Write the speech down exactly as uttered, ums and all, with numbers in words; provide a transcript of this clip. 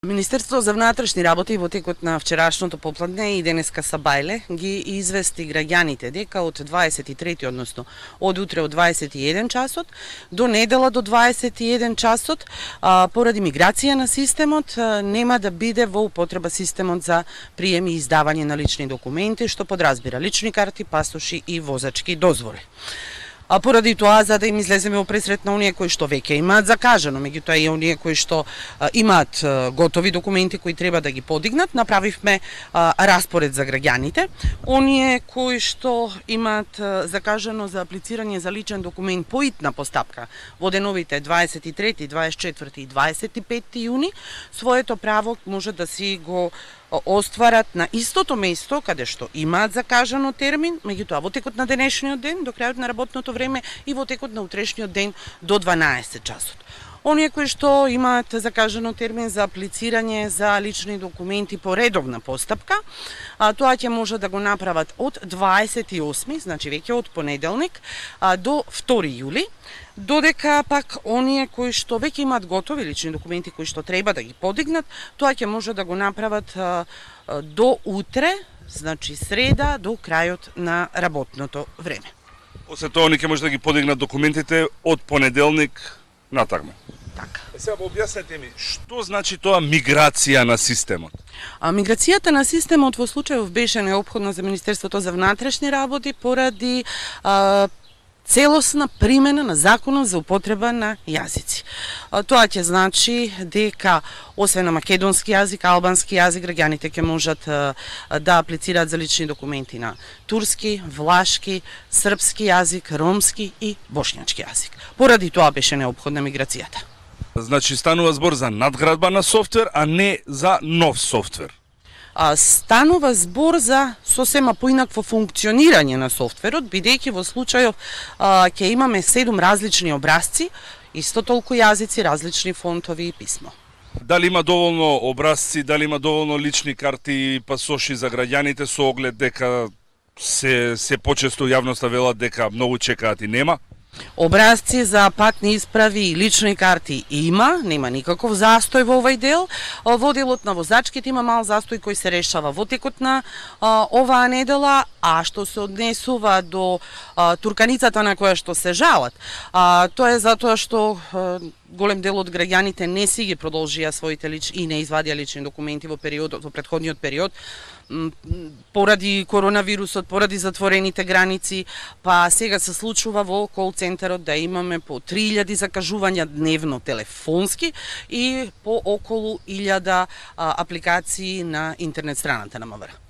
Министерството за внатрешни работи во текот на вчерашното попладне и денеска сабајле ги извести граѓаните дека од дваесет и трети, односно од утре од дваесет и еден часот до недела до дваесет и еден часот, а, поради миграција на системот, а, нема да биде во употреба системот за прием и издавање на лични документи, што подразбира лични карти, пасоши и возачки дозволи. А поради тоа, за да им излеземе во пресрет на оние кои што веќе имаат закажано, меѓутоа и оние кои што а, имаат а, готови документи кои треба да ги подигнат, направивме а, распоред за граѓаните. Оние кои што имаат а, закажано за аплицирање за личен документ по итна постапка во деновите дваесет и трети, дваесет и четврти и дваесет и петти јуни, своето право може да си го остварат на истото место каде што имаат закажано термин, меѓутоа во текот на денешниот ден до крајот на работното време и во текот на утрешниот ден до дванаесет часот. Оние кои што имаат закажано термин за аплицирање за лични документи по редовна постапка, а, тоа ќе може да го направат од дваесет и осми, значи веќе од понеделник, а, до втори јули, додека пак оние кои што веќе имаат готови лични документи кои што треба да ги подигнат, тоа ќе може да го направат а, а, до утре, значи среда, до крајот на работното време. После тоа оние ќе може да ги подигнат документите од понеделник натаму. Така. Е, сега објаснете ми, што значи тоа миграција на системот? А, миграцијата на системот во случајов беше неопходна за Министерството за внатрешни работи поради а, целосна примена на законот за употреба на јазици. А, тоа ќе значи дека освен на македонски јазик, албански јазик, граѓаните ќе можат а, да аплицираат за лични документи на турски, влашки, српски јазик, ромски и бошњачки јазик. Поради тоа беше неопходна миграцијата. Значи станува збор за надградба на софтвер, а не за нов софтвер. А, станува збор за сосема поинакво функционирање на софтверот, бидејќи во случајов а, ќе имаме седум различни образци, исто толку јазици, различни фонтови и писмо. Дали има доволно образци, дали има доволно лични карти и пасоши за граѓаните со оглед дека се, се почесто јавноста велат дека многу чекаат и нема? Образци за патни исправи и лични карти има, нема никаков застој во овој дел. Во делот на возачките има мал застој кој се решава во текот на а, оваа недела, а што се однесува до а, турканицата на која што се жалат, а, тоа е затоа што а, голем дел од граѓаните не си ги продолжија своите лични и не извадија лични документи во периодот, во претходниот период, поради коронавирусот, поради затворените граници, па сега се случува во кол центарот да имаме по три илјади закажувања дневно телефонски и по околу илјада апликации на интернет страната на МВР.